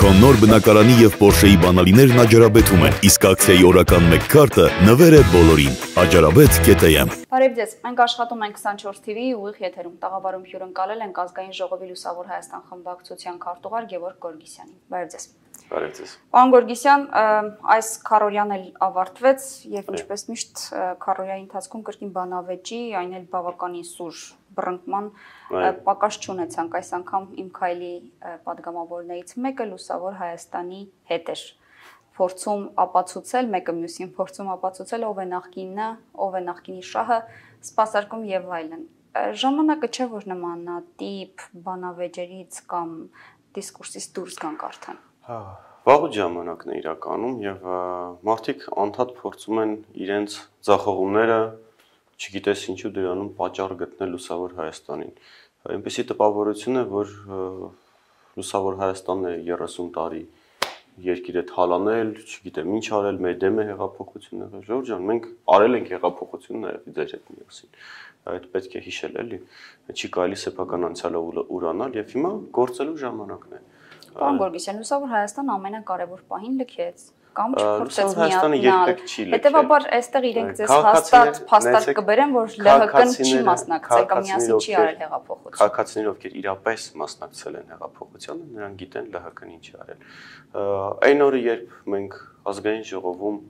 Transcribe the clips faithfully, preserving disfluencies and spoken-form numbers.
Քո նոր բնակարանի եւ Porsche-ի բանալիներն աջարաբեթում են, իսկ ակցիայի օրական մեկ քարտը նվեր է բոլորին։ Աջարաբեթ կետը եմ։ Բարև ձեզ, մենք աշխատում ենք քսանչորս թիվի ուղիղ եթերում, տաղավարում հյուրընկալել ենք ազգային ժողովի Լուսավոր Հայաստան խմբակցության քարտուղար Գևորգ Գորգիսյանին։ Բարև ձեզ։ Բարև ձեզ։ Պարոն Գորգիսյան, այս քառօրյան էլ ավարտվեց եւ ինչպես միշտ քառօրյայի ընթացքում կրկին բանավեճի, այն էլ բավականին սուր բռնկման պակաս չունեցանք, այս անգամ իմ քայլի падգամավորներից մեկը Լուսավոր Հայաստանի հետ էր փորձում ապացուցել, մեկը մյուսին փորձում ապացուցել ով է նախկինը, ով է նախկինի շահը, սպասարկում եւ այլն։ Ժամանակը չէ, որ նմանատիպ բանավեճերից կամ դիսկուրսից դուրս գանք արդեն։ Հա, վաղուց ժամանակն է իրականում եւ մարդիկ անդադ փորձում են իրենց ձախողումները, չգիտես ինչու դրանում պատճառ գտնել Լուսավոր Հայաստանին։ Այնպեսի տպավորություն է, որ Լուսավոր Հայաստանն է երեսուն տարի երկիրը թալանել, չգիտեմ ինչ արել, մեր դեմ է հեղափոխությունը։ Ժողովուրդ ջան, մենք արել ենք հեղափոխություն նաև ձեր հետ միասին։ Այդ պետք է հիշել, էլի։ Չի կարելի սեփական անցյալը ուրանալ եւ հիմա գործելու ժամանակն է։ Պարոն Գորգիսյան, Լուսավոր Հայաստան ամենակարևոր պահին լքեց կամ չփորձեց միանալ։ Հետևաբար այստեղ իրենք ձեզ հաստատ փաստարկ կբերեն, որ ԼՀԿ-ն չի մասնակցել կամ միասին չի արել հեղափոխություն։ Քաղաքացիները, ովքեր իրապես մասնակցել են հեղափոխությանը, նրանք գիտեն ԼՀԿ-ն ինչ է արել։ Այն օրը, երբ մենք ազգային ժողովում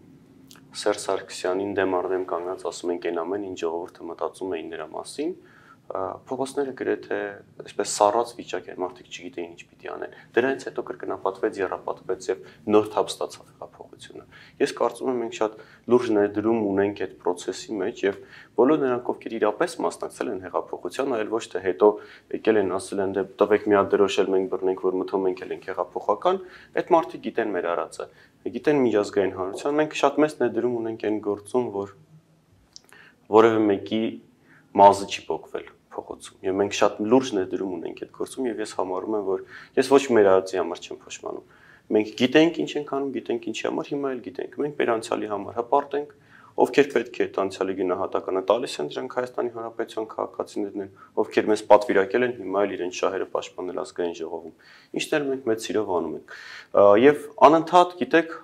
Սերժ Սարգսյանին դեմ առ դեմ կանգնած ասում ենք այն ամեն ինչ ժողովուրդը մտածում էին նրա մասին, փողոցները գրեթե այսպես սառած վիճակ էր, մարդիկ չգիտեին ինչ պիտի անեն։ Դրանից հետո կրկնապատվեց, եռապատվեց եւ նոր թափ ստացավ հեղափոխությունը։ Ես կարծում եմ մենք շատ լուրջ ներդրում ունենք այդ process-ի մեջ եւ բոլոր նրանք, ովքեր իրապես մասնակցել են հեղափոխությանը, այլ ոչ թե հետո եկել են ասել են դե տվեք մի հատ դրոշել մենք բռնենք, որ մթում մենք էլ ենք հեղափոխական, այդ մարդիկ գիտեն մեր արածը, գիտեն միջազգային հանրության, մենք շատ մեծ ներդրում ունենք այն գործում, որ որևէ մեկի մազը չի փոկվել փողոցում։ Եվ մենք շատ լուրջ ներդրում ունենք այդ գործում եւ ես համարում եմ, որ ես ոչ մեր արածի համար չեմ փոշմանում։ Մենք գիտենք ինչ ենք անում, գիտենք ինչի համար, հիմա էլ գիտենք։ Մենք մեր անցյալի համար հպարտ ենք, ովքեր պետք է այդ անցյալի գնահատականը տալիս են, դրանք Հայաստանի Հանրապետության քաղաքացիներն են, ովքեր մեզ պատվիրակել են, հիմա էլ իրենց շահերը պաշտպանել ազգային ժողովում։ Ինչն էլ մենք մեծ սիրով անում ենք։ Եվ անընդհատ, գիտեք,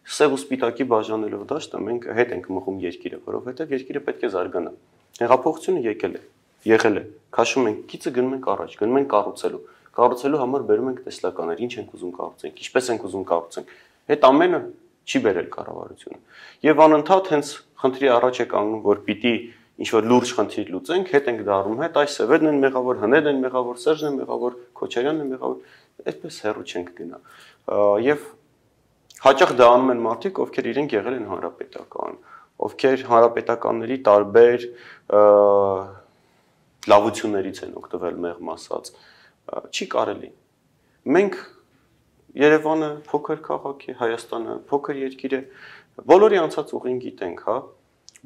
սև ու սպիտակի բաժանելով դաշտը մենք հետ ենք մղում երկիրը, որովհետեւ երկիրը պետք է զարգանա։ Հեղափոխությունը եկել է, եղել է, քաշում ենք գիծը, գնում ենք առաջ, գնում ենք կառուցելու։ Կառուցելու համար բերում ենք տեսլականներ, ինչ ենք ուզում կառուցենք, ինչպես ենք ուզում կառուցենք։ Այդ ամենը չի բերել կառավարությունը։ Եվ անընդհատ հենց խնդրի առաջ է կանգնում, որ պիտի ինչ-որ լուրջ խնդիր լուծենք, հետ ենք դառնում, հետ այս Սևերն են մեղավոր, Հնեդն են մեղավոր, Սերժն են մեղավոր, Քոչարյանն է մեղավոր, այդպես հեռու չենք գնա։ Եվ հաճախ դա անում են մարդիկ, ովքեր իրենք եղել են հանրապետական, ովքեր հանրապետականների տարբեր լավություններից են օգտվել մեղմ ասած, չի կարելի։ Մենք Երևանը փոքր քաղաք է, Հայաստանը փոքր երկիր է, բոլորի անցած ուղին գիտենք, հա,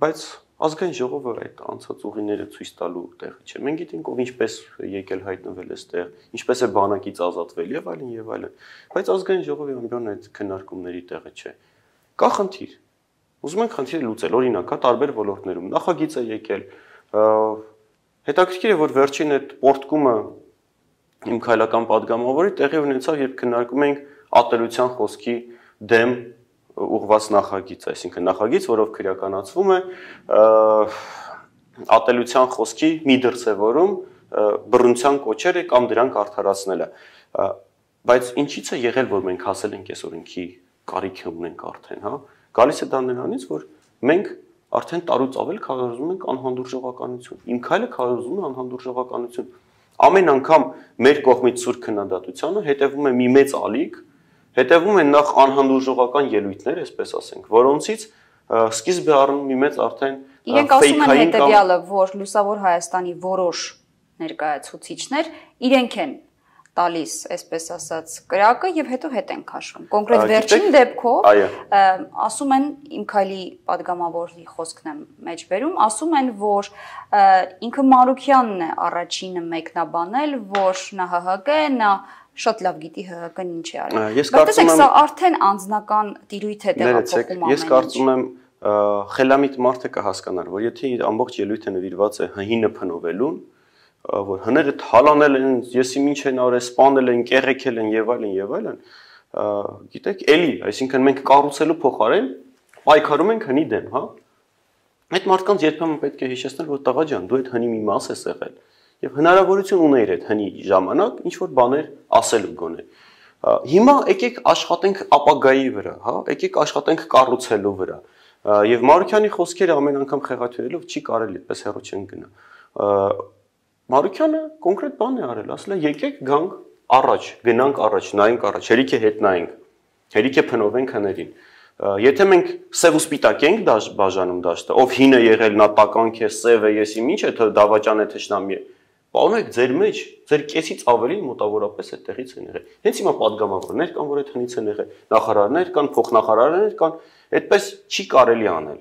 բայց ազգային ժողովը այդ անցած ուղիները ցույց տալու տեղը չէ։ Մենք գիտենք ով ինչպես եկել հայտնվել էստեղ, ինչպես է բանակից ազատվել եւ այլն եւ այլն, բայց ազգային ժողովի ամբիոնը այդ քննարկումների տեղը չէ։ Կա խնդիր։ Ուզում ենք խնդիրը լուծել, օրինակ, հա, տարբեր ոլորտներում նախագիծ է եկել, հետաքրքիր է, որ վերջին այդ պորտկումը իմ քայլական падգամավորի տեղի ունեցավ, երբ քննարկում ենք ատելության խոսքի դեմ ուղղված նախագիծ, այսինքն նախագիծ, որով քրեականացվում է ատելության խոսքի մի դրսևորում բռնության կոչերը կամ դրանք արդարացնելը։ Բայց ինչից է եղել, որ մենք հասել ենք այս օրենքի կարիքը ունենք արդեն, հա։ Գալիս է դա նրանից, որ մենք արդեն տարուց ավել քարոզում ենք անհանդուրժողականություն։ Իմ քայլը քարոզում է անհանդուրժողականություն։ Ամեն անգամ մեր կողմից սուր քննադատությանը հետևում է մի մեծ ալիք, հետևում են նախ անհանդուրժողական ելույթներ, այսպես ասենք, որոնցից սկիզբ է առնում մի մեծ արդեն իրենք ասում են հետևյալը, որ Լուսավոր Հայաստանի որոշ ներկայացուցիչներ իրենք են տալիս, այսպես ասած, կրակը եւ հետո հետ են քաշվում։ Կոնկրետ վերջին դեպքով ասում են իմ քայլի падգամավորի խոսքն եմ մեջ բերում, ասում են, որ ինքը Մարուքյանն է առաջինը մեկնաբանել, որ նա ՀՀԿ է, նա շատ լավ գիտի ՀՀԿ-ն ինչ է արել։ Բայց տեսեք, սա արդեն անձնական տիրույթ է տեղափոխում ամեն ինչ։ Ես կարծում եմ խելամիտ մարդը կհասկանար, որ եթե ամբողջ ելույթը նվիրված է հինը փնովելուն, որ հները թալանել են, եսի ինչ են արել, սպանել են, կեղեքել են եւ այլն եւ այլն, գիտեք, էլի, այսինքն մենք կառուցելու փոխարեն պայքարում ենք հնի դեմ, հա։ Այդ մարդկանց երբեմն պետք է հիշեցնել, որ տղա ջան, դու այդ հնի մի մաս ես եղել եւ հնարավորություն ունեիր այդ հնի ժամանակ ինչ որ բաներ ասելու գոնե։ Հիմա եկեք աշխատենք ապագայի վրա, հա, եկեք աշխատենք կառուցելու վրա։ Եվ Մարուկյանի խոսքերը ամեն անգամ խեղաթյուրելով չի կարելի, այդպես հեռու չեն գնա։ Մարուկյանը կոնկրետ բան է արել, ասել է եկեք գանք առաջ, գնանք առաջ, նայենք առաջ, հերիք է հետ նայենք, հերիք է փնովենք հներին։ Եթե մենք սև ու սպիտակ ենք բաժանում դաշտը, ով հին է եղել, նա տականք է, սև է, եսի ինչ է, դավաճան է, թշնամի է։ Պարոնեք, ձեր մեջ, ձեր կեսից ավելի մոտավորապես այդտեղից են եղել։ Հենց հիմա падգամավորներ կան, որ այդ հնից են եղել, նախարարներ կան, փոխնախարարներ կան, այդպես չի կարելի անել։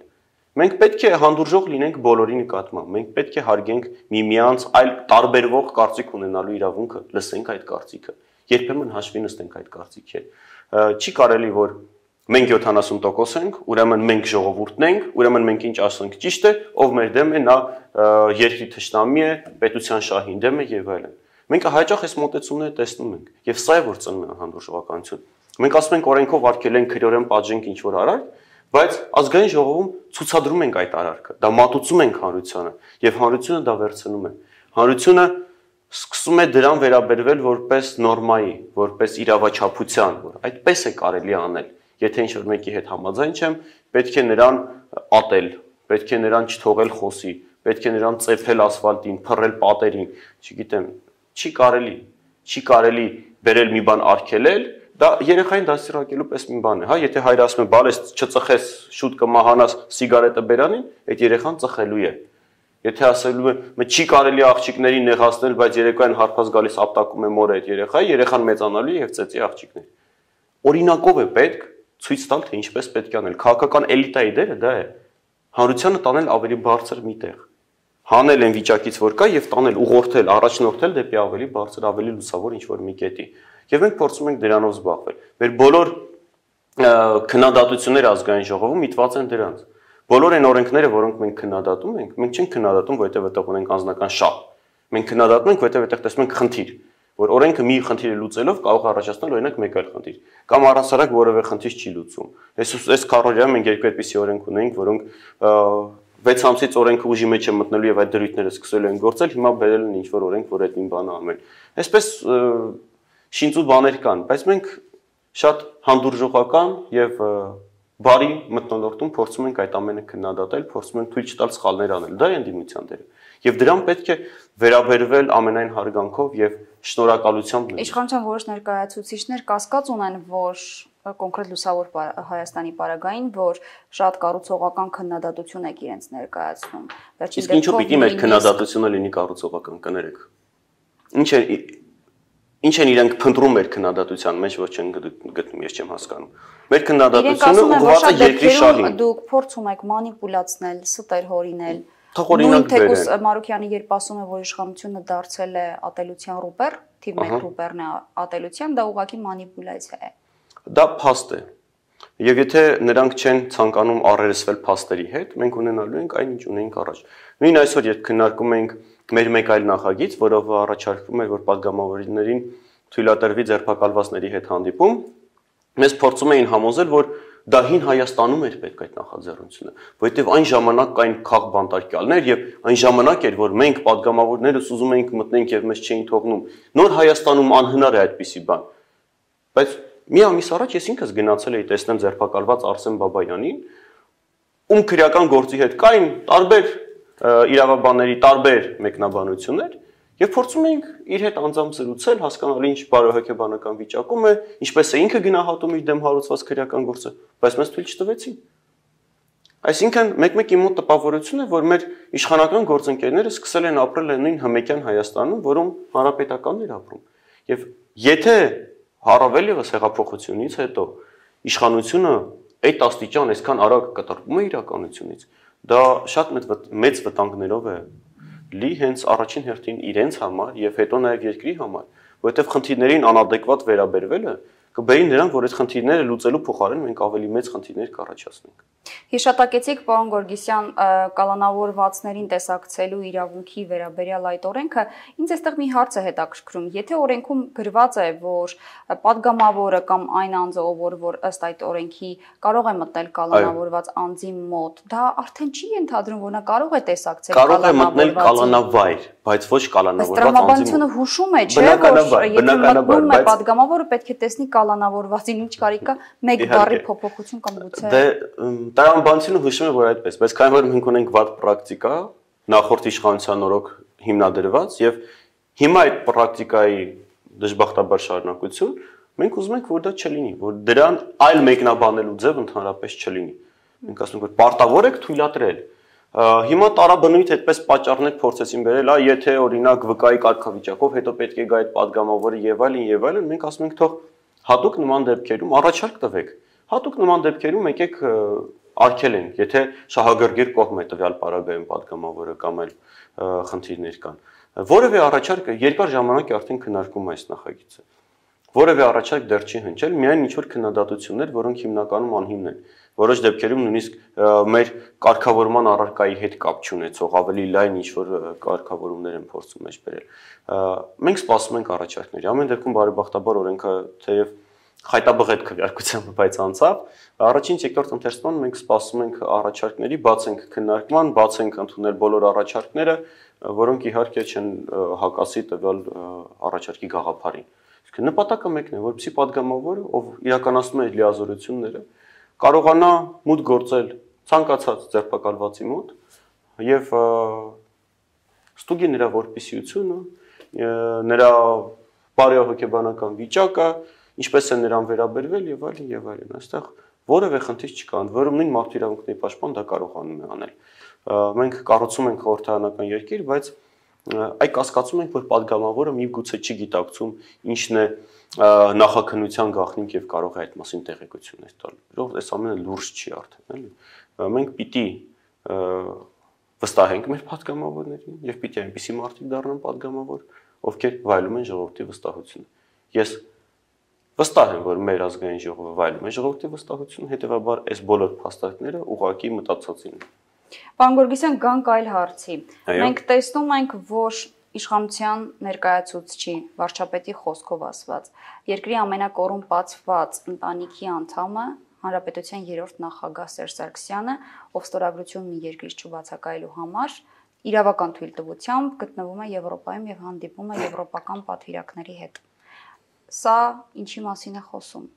Մենք պետք է հանդուրժող լինենք բոլորի նկատմամբ, մենք պետք է հարգենք միմյանց այլ տարբերվող կարծիք ունենալու իրավունքը, լսենք այդ կարծիքը, երբեմն հաշվի նստենք այդ կարծիքերը։ Չի կարելի, որ մենք յոթանասուն տոկոս ենք, ուրեմն մենք ժողովուրդն ենք, ուրեմն մենք ինչ ասենք ճիշտ է, ով մեր դեմ է, նա երկրի թշնամի է, պետության շահին դեմ է եւ այլն։ Մենք հաճախ այս մոտեցումները տեսնում ենք, եւ սա է որ ծնում է հանդուրժողականություն։ Մենք ասում ենք օրենքով արգելենք, քրեորեն պատժենք ինչ որ արարք, բայց ազգային ժողովում ցուցադրում ենք այդ արարքը, դա մատուցում ենք հանրությանը եւ հանրությունը դա վերցնում է։ Հանրությունը սկսում է դրան վերաբերվել որպես նորմայի, որպես իրավաչափության, որ այդպես է կարելի անել։ Եթե ինչ-որ մեկի հետ համաձայն չեմ, պետք է նրան ատել, պետք է նրան չթողել խոսի, պետք է նրան ծեփել ասֆալտին, փռել պատերին, չգիտեմ, չի կարելի, չի կարելի բերել մի բան արգելել, դա երեխային դասիրակելու պես մի բան է, հա, եթե հայրը ասում է, բալես չծխես, շուտ կմահանաս, սիգարետը բերանին, այդ երեխան ծխելու է։ Եթե ասելու է, չի կարելի աղջիկներին նեղացնել, բայց երեկոյան հարբած գալիս ապտակում է մորը այդ երեխայի, երեխան մեծանալու է եւ ծեծի աղջիկներ։ Օրինակով է պետք ցույց տալ, թե ինչպես պետք է անել։ Քաղաքական էլիտայի դերը դա է։ Հանրությանը տանել ավելի բարձր մի տեղ։ Հանել այն վիճակից, որ կա, եւ տանել, ուղղորդել, առաջնորդել դեպի ավելի բարձր, ավելի լուսավոր ինչ-որ մի կետի։ Եվ մենք փորձում ենք դրանով զբաղվել։ Մեր բոլոր քննադատությունները ազգային ժողովում միտված են դրանց։ Բոլոր այն օրենքները, որոնք մենք քննադատում ենք, մենք չենք քննադատում, որովհետև այդտեղ ունենք անձնական շահ։ Մենք քննադատում ենք, որովհետև այդտեղ տեսնում ենք խնդիր, որ օրենքը մի խնդիրը լուծելով կարող է առաջացնել օրինակ մեկ այլ խնդիր, կամ առհասարակ որևէ խնդիր չի լուծում։ Այս այս քառորյա մենք երկու այդպիսի օրենք ունենք, որոնք վեց ամսից օրենքը ուժի մեջ է մտնելու եւ այդ դրույթները սկսելու են գործել, հիմա բերել են ինչ-որ օրենք, որ այդ նույն բանը ամեն։ Այսպես շինծու բաներ կան, բայց մենք շատ հանդուրժողական եւ բարի մթնոլորտում փորձում ենք այդ ամենը քննադատել, փորձում ենք թույլ չտալ սխալներ անել։ Դա է ընդդիմության դերը։ Եվ դրան պետք է վերաբերվել ամենայն հարգանքով եւ շնորհակալությամբ։ Իշխանության որոշ ներկայացուցիչներ կասկած ունեն, որ կոնկրետ լուսավոր Հայաստանի պարագային, որ շատ կառուցողական քննադատություն եք իրենց ներկայացնում։ Իսկ ինչու պիտի մեր քննադատությունը լինի կառուցողական, կներեք։ Ինչ է Ինչ են իրենք փնտրում մեր քննադատության մեջ, որ չեն գտնում, ես չեմ հասկանում։ Մեր քննադատությունը ուղղված է երկրի շահին։ Դուք փորձում եք մանիպուլացնել, ստեր հորինել։ Թողորինակ բերել։ Մարուկյանը երբ ասում է, որ իշխանությունը դարձել է ատելության ռուպեր, թիվ մեկ ռուպերն է ատելության, դա ուղղակի մանիպուլյացիա է։ Դա փաստ է։ Եվ եթե նրանք չեն ցանկանում առերեսվել փաստերի հետ, մենք ունենալու ենք այն, ինչ ունենք առաջ։ Նույն այսօր երբ քննարկում ենք մեր մեկ այլ նախագիծ, որով առաջարկվում էր, որ падգամավորներին թույլատրվի ձերբակալվածների հետ հանդիպում, մեզ փորձում էին համոզել, որ դա հին Հայաստանում էր պետք այդ նախաձեռնությունը, որովհետև այն ժամանակ կային քաղբանտարկյալներ եւ այն ժամանակ էր, որ մենք падգամավորներս ուզում էինք մտնենք եւ մեզ չէին թողնում։ Նոր Հայաստանում անհնար է այդպիսի բան։ Բայց մի ամիս առաջ ես ինքս գնացել էի տեսնեմ ձերբակալված Արսեն Բաբայանին, ում քրեական գործի հետ կային տարբեր իրավաբանների տարբեր մեկնաբանություններ եւ փորձում էինք իր հետ անձամբ զրուցել, հասկանալ ինչ բարոյհոգեբանական վիճակում է, ինչպես է ինքը գնահատում իր դեմ հարուցված քրեական գործը, բայց մեզ թույլ չտվեցին։ Այսինքն մեկ-մեկ իմ մոտ տպավորություն է, որ մեր իշխանական գործընկերները սկսել են ապրել այն նույն հմեկյան Հայաստանում, որում հանրապետականներ ապրում։ Եվ եթե առավել ևս հեղափոխությունից հետո իշխանությունը այդ աստիճան այսքան արագ կտրվում է իրականությունից, դա շատ մեծ վտանգներով է լի հենց առաջին հերթին իրենց համար եւ հետո նաեւ երկրի համար, որովհետեւ խնդիրներին անադեկվատ վերաբերվելը կբերին նրանք, որ այդ խնդիրները լուծելու փոխարեն մենք ավելի մեծ խնդիրներ կառաջացնենք։ Հիշատակեցիք, պարոն Գորգիսյան, կալանավորվածներին տեսակցելու իրավունքի վերաբերյալ այդ օրենքը, ինձ այստեղ մի հարց է հետաքրքրում, եթե օրենքում գրված է, որ падգամավորը կամ այն անձը, որ ըստ այդ օրենքի կարող է մտնել կալանավորված անձի մոտ, դա արդեն չի ենթադրում, որ նա կարող է տեսակցել կարող է մտնել կալանավայր, բայց ոչ կալանավորված անձի մոտ։ Հուշում է, չէ՞, որ եթե մտնում է падգամավորը, պետք է տեսնի կալանավորվածին, ինչ կարիք կա մեկ բառի փոփոխություն կամ գուցե։ Դե տրամաբանությունը հուշում է, որ այդպես, բայց քանի որ մենք ունենք վատ պրակտիկա, նախորդ իշխանության օրոք հիմնադրված եւ հիմա այդ պրակտիկայի դժբախտաբար շարունակություն, մենք ուզում ենք, որ դա չլինի, որ դրան այլ մեկնաբանելու ձև ընդհանրապես չլինի։ Մենք ասում ենք, որ պարտավոր եք թույլատրել։ Հիմա տարաբնույթ այդպես պատճառներ փորձեցին բերել, այ եթե օրինակ վկայի կարգավիճակով հետո պետք է գա այդ падգամավորը եւ այլն եւ այլն, մենք ասում ենք թող հատուկ նման դեպքերում առաջարկ տվեք։ Հատուկ նման դեպքերում եկեք արգելենք, եթե շահագրգիռ կողմ է տվյալ պարագայում падգամավորը կամ այլ խնդիրներ կան։ Որևէ առաջարկ երկար ժամանակ է արդեն քննարկում այս նախագիծը։ Որևէ առաջարկ դեռ չի հնչել, միայն ինչ որ քննադատություններ, որոնք հիմնականում անհիմն են։ Որոշ դեպքերում նույնիսկ մեր կարգավորման առարկայի հետ կապ չունեցող ավելի լայն ինչ որ կարգավորումներ են փորձում մեջ բերել։ Մենք սպասում ենք առաջարկների։ Ամեն դեպքում բարեբախտաբար օրենքը թեև խայտաբղետ քվեարկությամբ բայց անցավ, առաջին երկրորդ ընթերցման մենք սպասում ենք առաջարկների, բաց ենք քննարկման, բաց ենք ընդունել բոլոր առաջարկները, որոնք իհարկե չեն հակասի տվյալ առաջարկի գաղափարին։ Իսկ նպատակը մեկն է, որպեսզի падգամավորը, ով իրականացնում է այդ լիազորությունները, կարողանա մուտք գործել ցանկացած ձերբակալվածի մոտ եւ ստուգի նրա որպիսիությունը, նրա բարոյահոգեբանական վիճակը, ինչպես է նրան վերաբերվել եւ այլն եւ այլն։ Այստեղ որևէ խնդիր չկա, ընդ որում նույն մարդու իրավունքների պաշտպան դա կարողանում է անել։ Մենք կառուցում ենք խորհրդարանական երկիր, բայց այ կասկածում ենք, որ падգամավորը միգուցե չի գիտակցում ինչն է նախաքննության գաղտնիք եւ կարող է այդ մասին տեղեկություններ տալ։ Որովհետեւ այս ամենը լուրջ չի արդեն, էլի։ Մենք պիտի վստահենք մեր падգամավորներին եւ պիտի այնպիսի մարդիկ դառնան падգամավոր, ովքեր վայելում են ժողովրդի վստահությունը։ Ես վստահ եմ, որ մեր ազգային ժողովը վայելում է ժողովրդի վստահությունը, հետեւաբար այս բոլոր փաստարկները ուղղակի մտածածին են։ Պարոն Գորգիսյան, գանք այլ հարցի։ Մենք տեսնում ենք, որ իշխանության ներկայացուցչի վարչապետի խոսքով ասված, երկրի ամենակոռումպացված ընտանիքի անդամը Հանրապետության երրորդ նախագահ Սերժ Սարգսյանը, ով ստորագրություն ունի երկրից չբացակայելու համար, իրավական թույլտվությամբ գտնվում է Եվրոպայում եւ հանդիպում է եվրոպական պատվիրակների հետ։ Սա ինչի մասին է խոսում։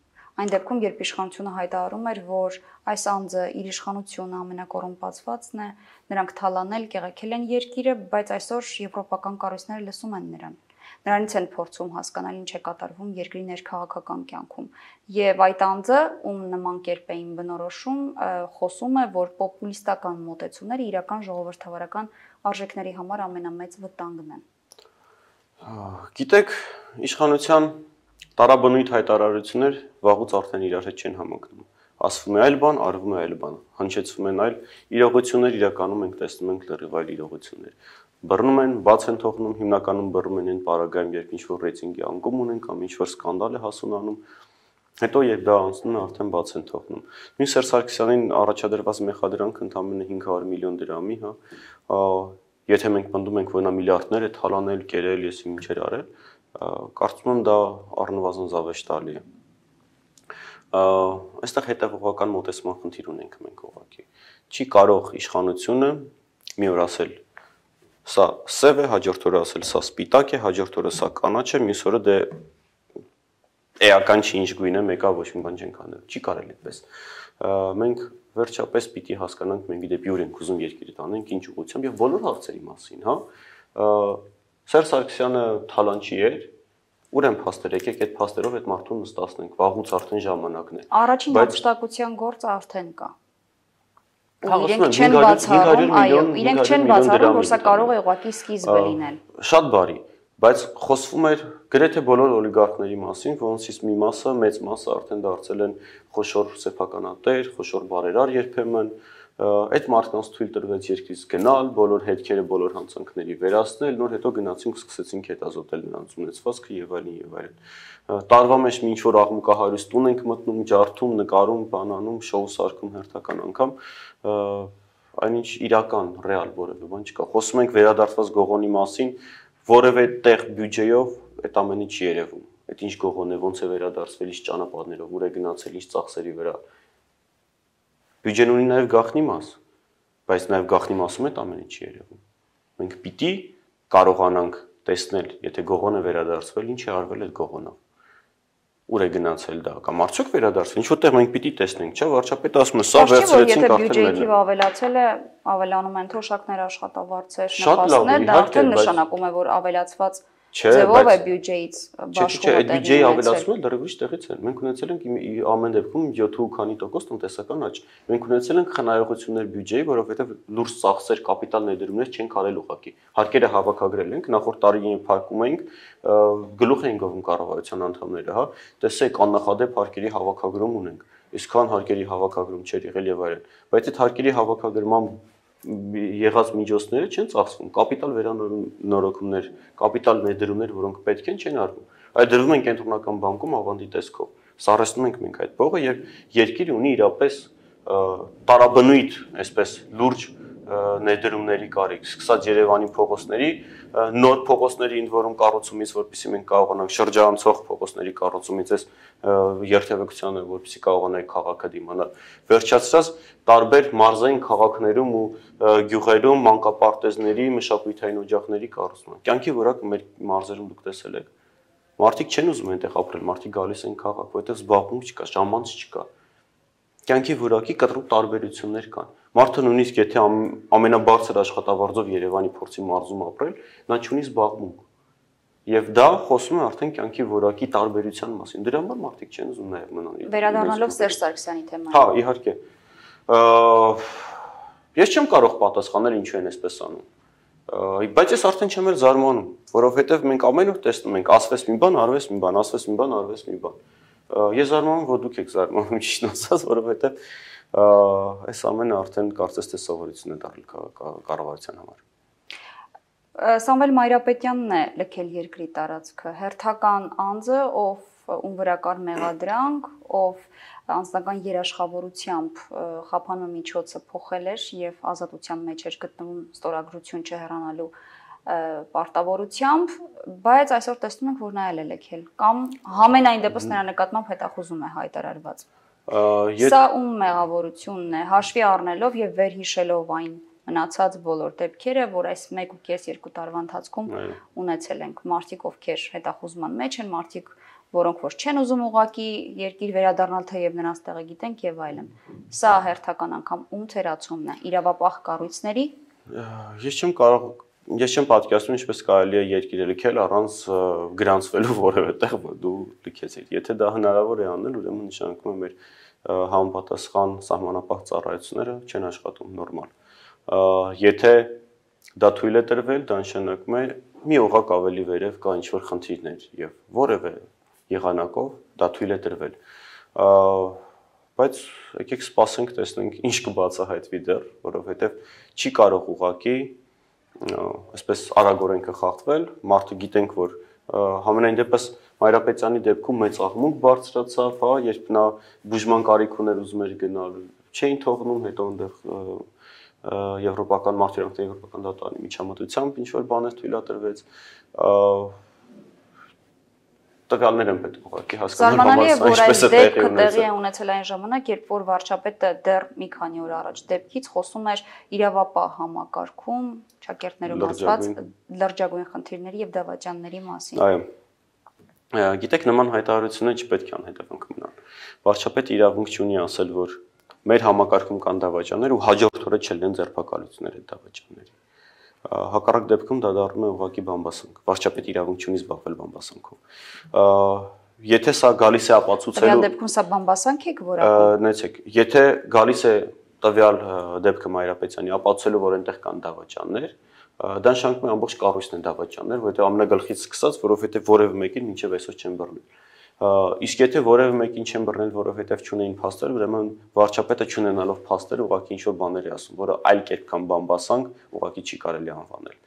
Այն դեպքում, երբ իշխանությունը հայտարարում էր, որ այս անձը իր իշխանությունը ամենակոռումպացվածն է, նրանք թալանել, կեղեքել են երկիրը, բայց այսօր եվրոպական կառույցները լսում են նրան։ Նրանից են փորձում հասկանալ ինչ է կատարվում երկրի ներքաղաքական կյանքում։ Եվ այդ անձը, ում նման կերպ էին բնորոշում, խոսում է, որ պոպուլիստական մոտեցումները իրական ժողովրդավարական արժեքների համար ամենամեծ վտանգն են։ Գիտեք, իշխանության տարաբնույթ հայտարարություններ վաղուց արդեն իրար հետ չեն համընկնում։ Ասվում է այլ բան, արվում է այլ բան, հնչեցվում են այլ իրողություններ, իրականում ենք տեսնում ենք լրիվ այլ իրողություններ։ Բռնում են, բաց են թողնում, հիմնականում բռնում են այն պարագայում, երբ ինչ-որ ռեյտինգի անկում ունեն կամ ինչ-որ սկանդալ է հասունանում, հետո երբ դա անցնում է, արդեն բաց են թողնում։ Նույն Սերժ Սարգսյանին առաջադրված մեղադրանքը ընդամենը հինգ հարյուր միլիոն դրամի, հա, եթե մենք պնդում ենք, որ նա միլիարդներ է թալանել, կերել, ես ինչեր արել, կարծում եմ դա առնվազն զավեշտալի է։ Այստեղ հետևողական մոտեցման խնդիր ունենք մենք ուղղակի։ Չի կարող իշխանությունը մի օր ասել սա սև է, հաջորդ օրը ասել սա սպիտակ է, հաջորդ օրը սա կանաչ է, մյուս օրը դե էական չի ինչ գույն է, մեկա ոչ մի բան չենք անել։ Չի կարելի այդպես։ Մենք վերջապես պիտի հասկանանք մենք դեպի ուր ենք ուզում երկիրը տանենք, ինչ ուղղությամբ եւ բոլոր հարցերի մասին, հա։ Սերժ Սարգսյանը թալանչի էր, ուր են փաստեր, եկեք այդ փաստերով այդ մարդուն նստացնենք, վաղուց արդեն ժամանակն է։ Առաջին հափշտակության գործը արդեն կա։ Իրենք չեն բացառում, այո, իրենք չեն բացառում, որ սա կարող է ուղղակի սկիզբը լինել։ Շատ բարի, բայց խոսվում էր գրեթե բոլոր օլիգարխների մասին, որոնցից մի մասը, մեծ մասը արդեն դարձել են խոշոր սեփականատեր, խոշոր բարերար երբեմն, Այդ մարդկանց թույլ տրվեց երկրից գնալ, բոլոր հետքերը, բոլոր հանցանքների վերացնել, նոր հետո գնացինք սկսեցինք հետազոտել նրանց ունեցվածքը եւ այլն եւ այլն։ Տարվա մեջ ինչ որ աղմուկահարույց տուն ենք մտնում, ջարդում, նկարում, բանանում, շոու սարքում հերթական անգամ, այնինչ իրական, ռեալ որևէ բան չկա։ Խոսում ենք վերադարձված Գողոնի մասին, որևէ տեղ բյուջեով այդ ամենը չի երևում։ Այդ ինչ Գողոն է, ոնց է վերադարձվել, ինչ ճանապարհներով, ուր է գնացել, ինչ ծախսերի վրա։ Բյուջեն ունի նաև գաղտնի մաս, բայց նաև գաղտնի մասում այդ ամենը չի երևում։ Մենք պիտի կարողանանք տեսնել, եթե Գողոնը վերադարձվել, ինչ է արվել այդ Գողոնով։ Ուր է գնացել դա, կամ արդյոք վերադարձել, ինչ որտեղ մենք պիտի տեսնենք, չէ՞, վարչապետը ասում է, սա վերցրեցինք արդեն մերն է։ Եթե բյուջեի թիվը ավելացել է, ավելանում են թոշակներ, աշխատավարձեր, նպաստներ, դա արդեն նշանակում է, որ ավելացված ձևով է բյուջեից բաշխումը։ Այդ բյուջեի ավելացումը դեռ ուրիշ տեղից է։ Մենք ունեցել ենք ամեն դեպքում յոթ ու քանի տոկոս տնտեսական աճ։ Մենք ունեցել ենք խնայողություններ բյուջեի, որովհետև լուրջ ծախսեր, կապիտալ ներդրումներ չենք արել ուղղակի։ Հարկերը հավաքագրել ենք, նախորդ տարի փակում էինք, գլուխ էին գովում կառավարության անդամները, հա, տեսեք աննախադեպ հարկերի հավաքագրում ունենք։ Իսկան հարկերի հավաքագրում չէր եղել եւ այլն։ Բայց այդ հարկերի հավաքագրման եղած միջոցները չեն ծախսվում, կապիտալ վերանորոգումներ, կապիտալ ներդրումներ, որոնք պետք են, չեն արվում, այլ դրվում են կենտրոնական բանկում ավանդի տեսքով։ Սառեցնում ենք մենք այդ փողը եւ երկիրը ունի իրապես տարաբնույթ, այսպես լուրջ ներդրումների կարիք, սկսած Երևանի փողոցների, նոր փողոցների ինձ որում կառուցումից, որպեսզի մենք կարողանանք շրջանցող փողոցների կառուցումից այս երթևեկությանը, որպեսզի կարողանանք քաղաքը դիմանալ, վերջացրած տարբեր մարզային քաղաքներում ու գյուղերում մանկապարտեզների, մշակութային օջախների կառուցումը։ Կյանքի որակը մեր մարզերում դուք տեսել եք։ Մարդիկ չեն ուզում այնտեղ ապրել, մարդիկ գալիս են քաղաք, որտեղ զբաղմունք չկա, ժամանց չկա։ Կյանքի որակի կտրուկ տարբերություններ կան։ Մարդը նույնիսկ եթե ամենաբարձր աշխատավարձով Երևանի փորձի մարզում ապրել, նա չունի զբաղմունք։ Եվ դա խոսում է արդեն կյանքի որակի տարբերության մասին։ Դրա համար մարդիկ չեն ուզում նաև մնալ։ Վերադառնալով Սերժ Սարգսյանի թեմային։ Հա, իհարկե։ Ես չեմ կարող պատասխանել ինչու են այսպես անում։ Բայց ես արդեն չեմ էլ զարմանում, որովհետև մենք ամեն օր տեսնում ենք ասվեց մի բան, արվեց մի բան, ասվեց մի բան, արվեց մի բան։ Ես զարմանում, որ դուք եք զարմանում, ճիշտ ասած, որովհետև այս ամենը արդեն կարծես թե սովորություն է դառել կառավարության համար։ Սամվել Մայրապետյանն է լքել երկրի տարածքը, հերթական անձը, ով ում վրա կար մեղադրանք, ով անձնական երաշխավորությամբ խափանու միջոցը փոխել էր եւ ազատության մեջ էր գտնվում ստորագրություն չհեռանալու պարտավորությամբ, բայց այսօր տեսնում ենք, որ նա էլ է լքել կամ համենայն դեպս նրա նկատմամբ հետախուզում է հայտարարված։ Սա ում մեղավորությունն է, հաշվի առնելով եւ վերհիշելով այն մնացած բոլոր դեպքերը, որ այս մեկ ու կես երկու տարվա ընթացքում ունեցել ենք, մարդիկ ովքեր հետախուզման մեջ են, մարդիկ, որոնք որ չեն ուզում ուղակի երկիր վերադառնալ, թեև նրանց տեղը գիտենք եւ այլն։ Սա հերթական անգամ ում թերացումն է, իրավապահ կառույցների։ Ես չեմ կարող, ես չեմ պատկերացնում ինչպես կարելի է երկիրը լքել առանց գրանցվելու որևէ տեղ, որ դու լքեցիր։ Եթե դա հնարավոր է անել, ուրեմն նշանակում է մեր համապատասխան սահմանապահ ծառայությունները չեն աշխատում նորմալ։ Եթե դա թույլ է տրվել, դա նշանակում է մի օղակ ավելի վերև կա ինչ-որ խնդիրներ եւ որևէ եղանակով դա թույլ է տրվել։ Բայց եկեք սպասենք, տեսնենք ինչ կբացահայտվի դեռ, որովհետեւ չի կարող ուղակի այսպես արագորեն կխախտվել, մարդը գիտենք, որ համենայն դեպս Մայրապետյանի դեպքում մեծ աղմուկ բարձրացավ, հա, երբ նա բուժման կարիք ուներ ուզում էր գնալ, չէին թողնում, հետո այնտեղ Եվրոպական մարդու եվրոպական դատարանի միջամտությամբ ինչ որ բաներ թույլատրվեց, տվյալներ են պետք ուղղակի հասկանալ համաձայն ինչպես է տեղի ունեցել։ Տեղի է ունեցել այն ժամանակ, երբ որ վարչապետը դեռ մի քանի օր առաջ դեպքից խոսում էր իրավապահ համակարգում, ճակերտներում ասված լրջագույն խնդիրների եւ դավաճանների մասին։ Այո։ Գիտեք, նման հայտարարությունները չպետք է անհետևանք մնան։ Վարչապետը իրավունք չունի ասել, որ մեր համակարգում կան դավաճաններ ու հաջորդ օրը չլինեն ձերբակալություններ այդ դավաճանների։ Հակառակ դեպքում դա դառնում է ուղղակի բամբասանք։ Վարչապետը իրավունք չունի զբաղվել բամբասանքով։ Եթե սա գալիս է ապացուցելու Տվյալ դեպքում սա բամբասանք է որակում։ Նայեցեք, եթե գալիս է տվյալ դեպքը Մայրապետյանի ապացուցելու, որ այնտեղ կան դավաճաններ, դա նշանակում է ամբողջ կառույցն է դավաճաններ, որովհետև ամենագլխից սկսած, որովհետև որևէ մեկին մինչև այսօր չեն բռնել։ Իսկ եթե որևէ մեկին չեն բռնել, որովհետև չունեին փաստեր, ուրեմն վարչապետը չունենալով փաստեր ուղղակի ինչ-որ բաներ է ասում, որը այլ կերպ կամ բամբասանք ուղղակի չի կարելի անվանել։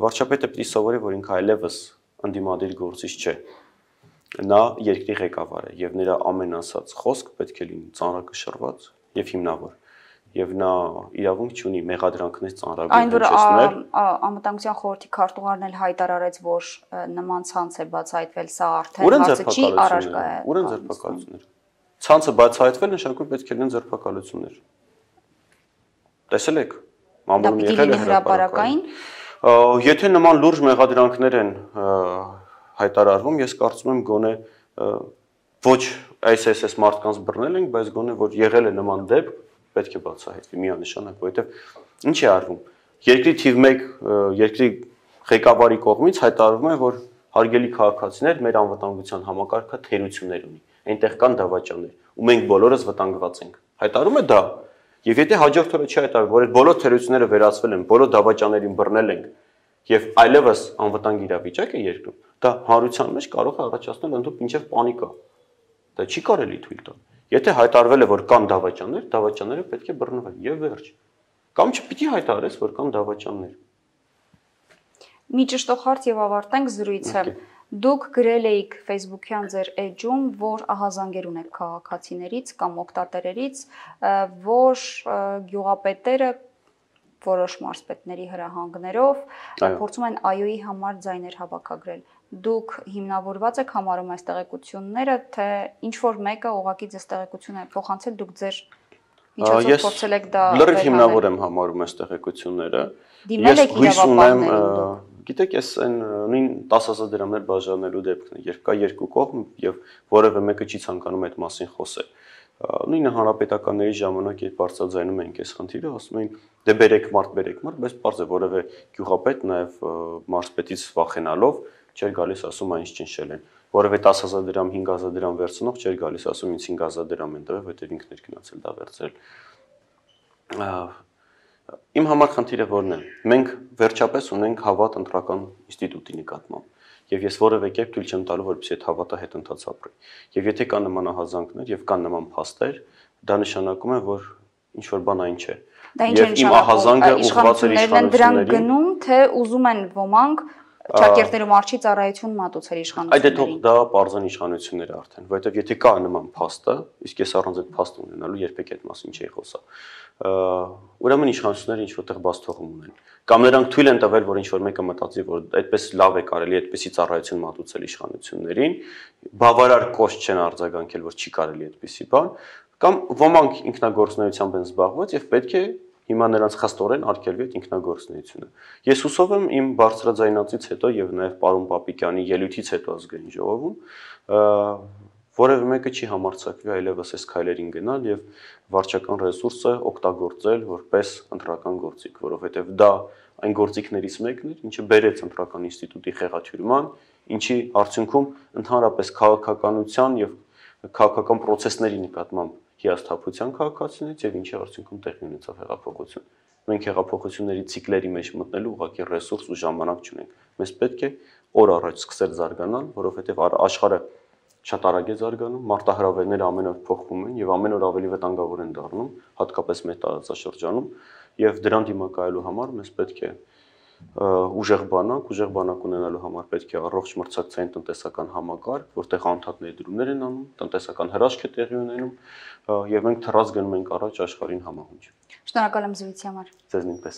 Վարչապետը պիտի սովորի, որ ինքը այլևս ընդդիմադիր գործիչ չէ։ Նա երկրի ղեկավար է եւ նրա ամեն ասած խոսք պետք է լինի ծանրակշռված եւ հիմնավոր։ Եվ նա իրավունք չունի մեղադրանքներ ծանրագույն հնչեցնել։ Այն որ անվտանգության խորհրդի քարտուղարն էլ հայտարարեց, որ նման ցանց է բացահայտվել, սա արդեն հարցը չի առարկա է։ Ուրեն ձերբակալություններ։ Ցանցը բացահայտվել նշանակում պետք է լինեն ձերբակալություններ։ Տեսել եք։ Մամուլում եղել է հրապարակային։ Եթե նման լուրջ մեղադրանքներ են հայտարարվում, ես կարծում եմ գոնե ոչ այս այս մարդկանց բռնել ենք, բայց գոնե որ եղել է նման դեպք, պետք է բացահայտվի միանշանակ, որովհետև ինչ է արվում։ Երկրի թիվ մեկ երկրի ղեկավարի կողմից հայտարարվում է, որ հարգելի քաղաքացիներ, մեր անվտանգության համակարգը թերություններ ունի։ Այնտեղ կան դավաճաններ, ու մենք բոլորս վտանգված ենք։ Հայտարարում է դա։ Եվ եթե հաջորդ օրը չի հայտարարվում, որ այդ բոլոր թերությունները վերացվել են, բոլոր դավաճաններին բռնել ենք, եւ այլևս անվտանգ իրավիճակ է երկրում, դա հանրության մեջ կարող է առաջացնել ընդհանուր մինչև պանիկա։ Դա չի կարելի թույլ տալ։ Եթե հայտարարվել է, որ կան դավաճաններ, դավաճանները պետք է բռնվեն եւ վերջ։ Կամ չպիտի հայտարարես, որ կան դավաճաններ։ Մի ճշտող հարց եւ ավարտենք զրույցը։ Դուք գրել էիք Facebook-յան ձեր էջում, որ ահազանգեր ունեք քաղաքացիներից կամ օգտատերերից, որ գյուղապետերը որոշ մարզպետների հրահանգներով փորձում են ԱՅՈ-ի համար ձայներ հավաքագրել։ Դուք հիմնավորված եք համարում այս տեղեկությունները, թե ինչ որ մեկը ուղղակի ձեզ տեղեկություն է փոխանցել, դուք ձեր միջոցով փորձել եք դա վերհանել։ Լրիվ հիմնավոր եմ համարում այս տեղեկությունները։ Դիմել եք իրավապահներին։ Գիտեք, ես այն նույն տասը հազար դրամներ բաժանելու դեպքն է, երբ կա երկու կողմ եւ որևէ մեկը չի ցանկանում այդ մասին խոսել։ Նույնը հանրապետականների ժամանակ երբ բարձրաձայնում ենք այս խնդիրը, ասում էին դե բերեք մարդ, բերեք մարդ, բայց պարզ է որևէ գյուղապետ նաեւ մարզպետից վախենալով չէր գալիս ասում այնց ճնշել են։ Որևէ տասը հազար դրամ, հինգ հազար դրամ վերցնող չէր գալիս ասում ինձ հինգ հազար դրամ են տվել, որտեղ ինքն էր գնացել դա վերցրել։ Իմ համար խնդիրը որն է։ Մենք վերջապես ունենք հավատ ընտրական ինստիտուտի նկատմամբ։ Եվ ես որևէ կերպ թույլ չեմ տալու, որպեսզի այդ հավատը հետընթաց ապրի։ Եվ եթե կան նման ահազանգներ եւ կան նման փաստեր, դա նշանակում է, որ ինչ որ բան այն չէ։ Եվ իմ ահազանգը ուղղված է իշխանություններին։ Դրանք գնում, թե ուզում են ոմանք ճակերտներում արչի ծառայություն մատուցել իշխանություններին։ Այդ է թող դա պարզան իշխանությունները արդեն, որովհետև եթե կա նման փաստը, իսկ ես առանց այդ փաստը ունենալու երբեք այդ մասին չի խոսա։ Ուրեմն իշխանությունները ինչ որտեղ բաց թողում ունեն։ Կամ նրանք թույլ են տվել, որ ինչ որ մեկը մտածի, որ այդպես լավ է կարելի այդպեսի ծառայություն մատուցել իշխանություններին, բավարար կոշտ չեն արձագանքել, որ չի կարելի այդպեսի բան, կամ ոմանք ինքնագործունեությամբ են զբաղված եւ պետք է հիմա նրանց խստորեն արգելվի այդ ինքնագործունեությունը։ Ես հուսով եմ իմ բարձրաձայնածից հետո եւ նաեւ պարոն Պապիկյանի ելույթից հետո ազգային ժողովում որևէ մեկը չի համարձակվի այլևս այս քայլերին գնալ եւ վարչական ռեսուրսը օգտագործել որպես ընտրական գործիք, որովհետեւ դա այն գործիքներից մեկն էր, ինչը բերեց ընտրական ինստիտուտի խեղաթյուրման, ինչի արդյունքում ընդհանրապես քաղաքականության եւ քաղաքական process-ների նկատմամբ հիասթափության քաղաքացիներից եւ ինչի արդյունքում տեղի ունեցավ հեղափոխություն։ Մենք հեղափոխությունների ցիկլերի մեջ մտնելու ուղղակի ռեսուրս ու ժամանակ չունենք։ Մեզ պետք է օր առաջ սկսել զարգանալ, որովհետեւ աշխարհը շատ արագ է զարգանում, մարտահրավերները ամեն օր փոխվում են եւ ամեն օր ավելի վտանգավոր են դառնում, հատկապես մեր տարածաշրջանում, եւ դրան դիմակայելու համար մեզ պետք է ուժեղ բանակ, ուժեղ բանակ ունենալու համար պետք է առողջ մրցակցային տնտեսական համակարգ, որտեղ անդադ ներդրումներ են անում, տնտեսական հրաշք է տեղի ունենում, եւ մենք թռած գնում ենք առաջ աշխարհին համահունչ։ Շնորհակալ եմ զրույցի համար։ Ձեզ նույնպես։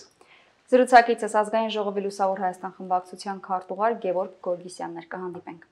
Զրուցակիցս ազգային ժողովի Լուսավոր Հայաստան խմբակցության քարտուղար Գևորգ Գորգիսյանն էր, կհանդիպենք։